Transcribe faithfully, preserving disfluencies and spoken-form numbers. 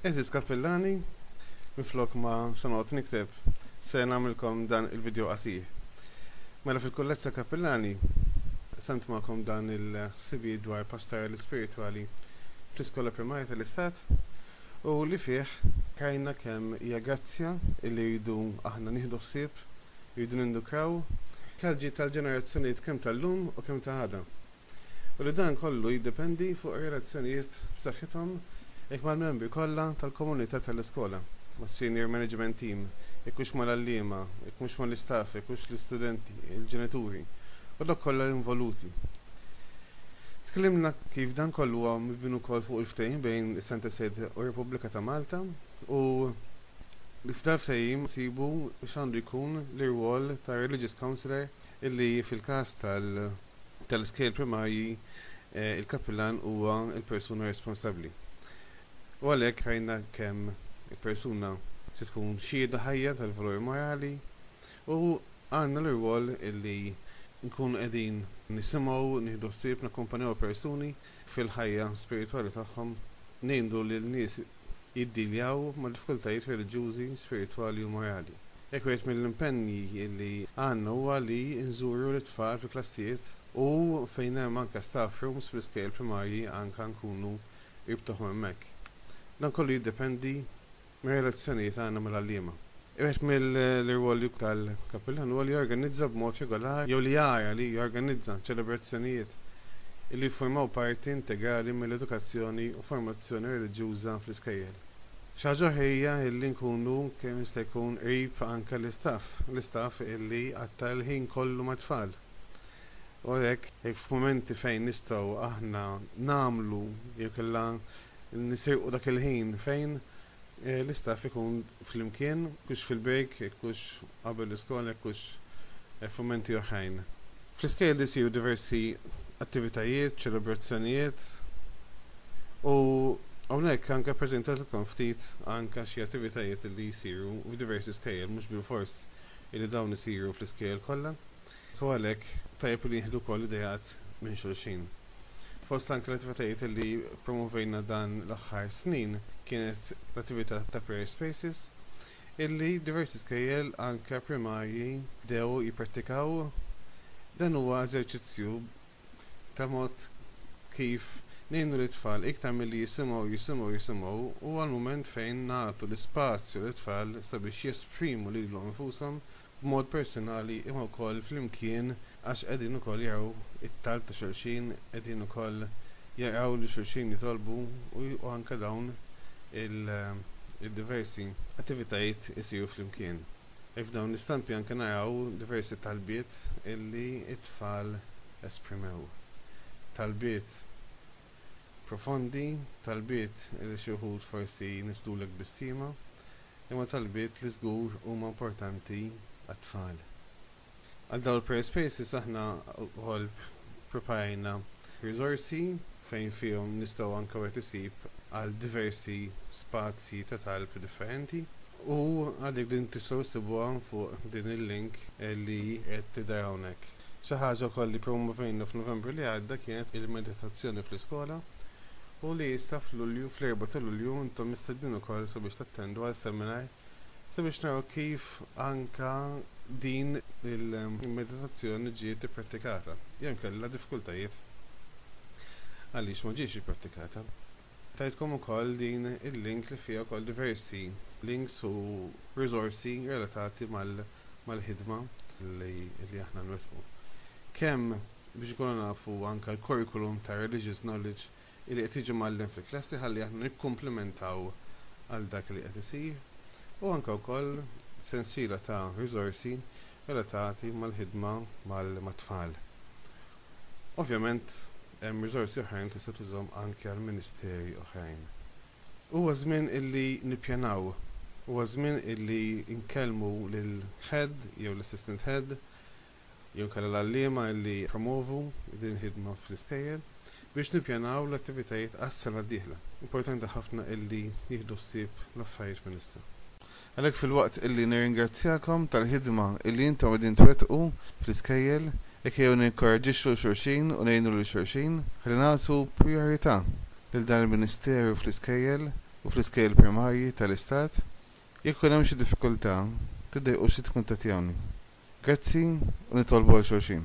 Għeżież kappillani, minflok ma se noqgħod nikteb, se nagħmilkom dan il-video qasir. Mela fil-Kulleġġ ta' Kappillani qsamt magħkom dan il-ħsibijiet dwar pastorali spiritwali fl-iskola primarja tal-Istat u li fih rajna kemm hija grazzja li rridu aħna nieħdu ħsieb, rridu nindukraw għall-ġid tal-ġenerazzjonijiet kemm tal-lum u kemm ta' għada. U li dan kollu jiddependi fuq relazzjonijiet b'saħħithom hekk mal-membri kollha tal-komunità tal-iskola, mas-senior management team, jekk hux mal-għalliema, jekk mhux mal-istaff, jekk hux l-istudenti, il-ġenituri, u dawk kollha involuti. Tkellimna kif dan kollu huwa mibni wkoll fuq il-ftehim bejn is-Santa Sede u Repubblika ta' Malta u li f'dan ftehim sibu x'għandu jkun l-irwol ta' religious counselor illi fil-każ tal- tal-iskejjel primarji eh, il-kappillan huwa il-persuna responsabbli. U għalhekk rajna kemm il-persuna se tkun xhieda ħajja tal-valori morali u għandna l-irwol illi nkunu qegħdin nisimgħu, nieħdu ħsieb, nakkumpanjaw persuni fil-ħajja spiritwali tagħhom, ngħinu lil nies jiddiljaw ma' diffikultajiet reliġjużi, spiritwali u morali. Hekk wieħed mill-impenji illi għandna huwa li nżuru l-tfal fi klassijiet u fejn hemm anke staff rooms fl-iskejjel primarji anke nkunu qrib tagħhom hemmhekk. Dan kollu jiddependi mir-relazzjonijiet għandna mal-għalliema. Wieħed mill-irwoli tal-kappillan huwa li jorganizza b'mod regolari jew li jara li jorganizza ċelebrazzjonijiet li jiffurmaw parti integrali mill-edukazzjoni u formazzjoni reliġjuża fl-iskejjel. Xi ħaġa oħra hija illi nkunu kemm jista' jkun qrib anke l-istaff, l-istaff illi qatta' l-ħin kollu mat-tfal. U għalhekk jekk f'mumenti fejn nistgħu aħna nagħmlu jew kellha nisirqu dak il-ħin fejn eh, l-istaff ikun flimkien, kux fil-break, kux qabel l-iskola, kux eh, f'mumenti oħrajn. Fl-iskejjel isiru diversi attivitajiet, ċelebrazzjonijiet u hawnhekk anke ppreżentatilkom ftit anke xi attivitajiet li jsiru f'diversi skejjel, mhux bilfors li dawn isiru fl-iskejjel kollha. U għalhekk tajjeb li nieħdu wkoll ideat minn xulxin. Fost anke l-attivitajiet li promovejna dan l-aħħar snin kienet l-attività ta' Prayer Spaces illi diversi skejjel anke primarji bdew jipprattikaw. Dan huwa eżerċizzju ta' mod kif ngħinu l-tfal iktar milli jisimgħu jisimgħu jisimgħu huwa l-mument fejn nagħtu l-ispazju lit-tfal sabiex jesprimu lilhom infushom b'mod personali imma wkoll flimkien għax qegħdin ukoll jaraw it-talb ta' xulxin, qegħdin ukoll jaraw li xulxin jitolbu u anke dawn il-diversi attivitajiet isiru flimkien. E f'dawn l-istampi anke naraw diversi talbiet illi it-tfal esprimew. Talbiet profondi, talbiet li xi wħud forsi jnisslulek tbissima, imma talbiet li żgur huma importanti għat-tfal. Għal dawn il-prayer spaces aħna wkoll preparajna risorsi fejn fihom nistgħu anke wieħed isib għal diversi spazji ta' talb differenti u għalik din tistgħu issibuha fuq din il-link li qed tidher hawnhekk. Xi ħaġa wkoll li promovejna f'Novembru li għadda kienet il-meditazzjoni fl-iskola u li issa f'Lulju, fl-erba' ta' Lulju intom mistednin ukoll sabiex tattendu għal seminar sabiex naraw kif anka din il-meditazzjoni ġiet ipprattikata. Jew kellha diffikultajiet għaliex ma ġietx ipprattikata. Tajtkom ukoll din il-link li fiha wkoll diversi links u risorsi relatati mal-ħidma li, li aħna nwettqu. Kemm biex ikunu nafu anka l-curriculum ta' religious knowledge li qed jiġi mgħallem fil-klassi ħalli aħna nikkumplementaw għal dak li qed isir u anke wkoll sensiela ta' risorsi relatati mal-ħidma mal-tfal. Ovvjament hemm risorsi oħrajn tista' tużhom anke għal ministeri oħrajn. Huwa żmien illi nippjanaw, huwa żmien illi nkellmu lil head jew l-assistant head jew kellha l-għalliema illi promovu din il-ħidma fl-iskejjel biex nippjanaw l-attivitajiet għas-sena d-dieħla. Importanti ħafna illi nieħdu ħsieb l-affarijiet minn issa. Għalhekk filwaqt illi nirringrazzjakom tal-ħidma illi intom qegħdin twettqu fl-iskejjel, jekk jew ninkoraġġixxu xulxin u ngħinu lil xulxin, ħalli nagħtu priorità lil dan il-ministeru fl-iskejjel. u fl-iskejjel primarji tal-Istat. Jekk ikun hemm xi diffikultà, tiddejqux tikkuntattjawni. Grazzi u nitolbu għal xulxin.